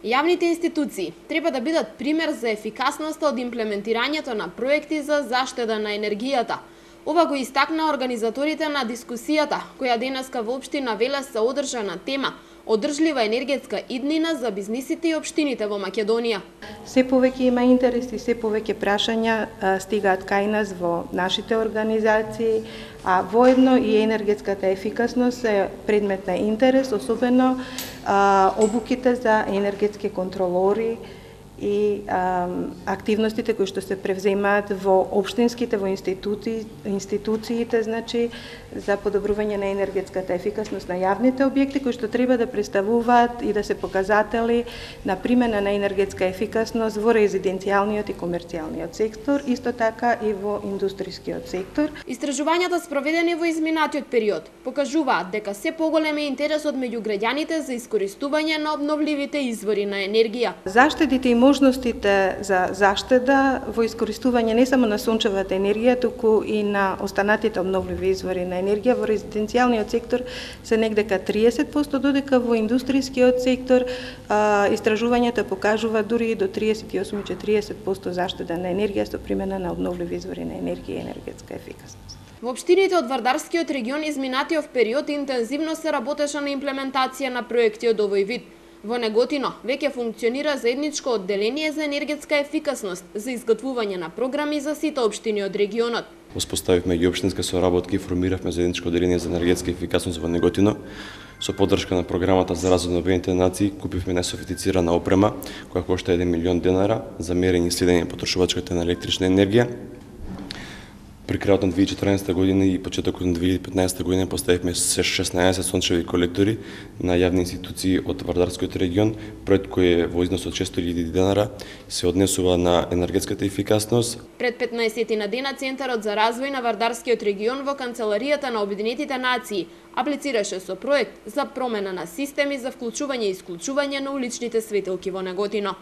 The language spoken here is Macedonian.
Јавните институции треба да бидат пример за ефикасноста од имплементирањето на проекти за заштеда на енергијата. Ова го истакна организаторите на дискусијата, која денеска во општина Велес се одржа на тема одржлива енергетска иднина за бизнисите и општините во Македонија. Се повеќе има интерес и се повеќе прашања стигаат кај нас во нашите организации, а воедно и енергетската ефикасност е предмет на интерес, особено обуките за енергетски контролори и активностите кои што се превземаат во општинските, во институциите, значи за подобрување на енергетската ефикасност на јавните објекти кои што треба да представуваат и да се показатели на примена на енергетска ефикасност во резиденцијалниот и комерцијалниот сектор, исто така и во индустрискиот сектор. Истражувањата спроведени во изминатиот период покажуваат дека се поголем е интересот меѓу граѓаните за искористување на обновливите извори на енергија. Заштедите и можностите за заштеда во искористување не само на сончевата енергија, туку и на останатите обновливи извори на енергија во резиденцијалниот сектор се негдека 30%, додека во индустрискиот сектор истражувањата покажува дури и до 38-40% заштеда на енергија со примена на обновливи извори на енергија и енергетска ефикасност. Во општините од Вардарскиот регион изминатиот период интензивно се работеше на имплементација на проекти од овој вид. Во Неготино веќе функционира заедничко одделение за енергетска ефикасност за изготвување на програми за сите општини од регионот. Воспоставивме и општинска соработка и формиравме заедничко одделение за енергетска ефикасност во Неготино. Со поддршка на програмата за развој на Обединетите нации купивме несофистицирана опрема која кошта 1 милион денара за мерење и следење потрошувачката на електрична енергија. При крајот на 2014 година и почетокот на 2015 година поставивме 16 сончеви колектори на јавни институции од Вардарскиот регион, проект кој е во износ од 600.000 денара се однесува на енергетската ефикасност. Пред 15 на дена Центарот за развој на Вардарскиот регион во Канцеларијата на Обединетите нации аплицираше со проект за промена на системи за вклучување и исклучување на уличните светилки во Неготино.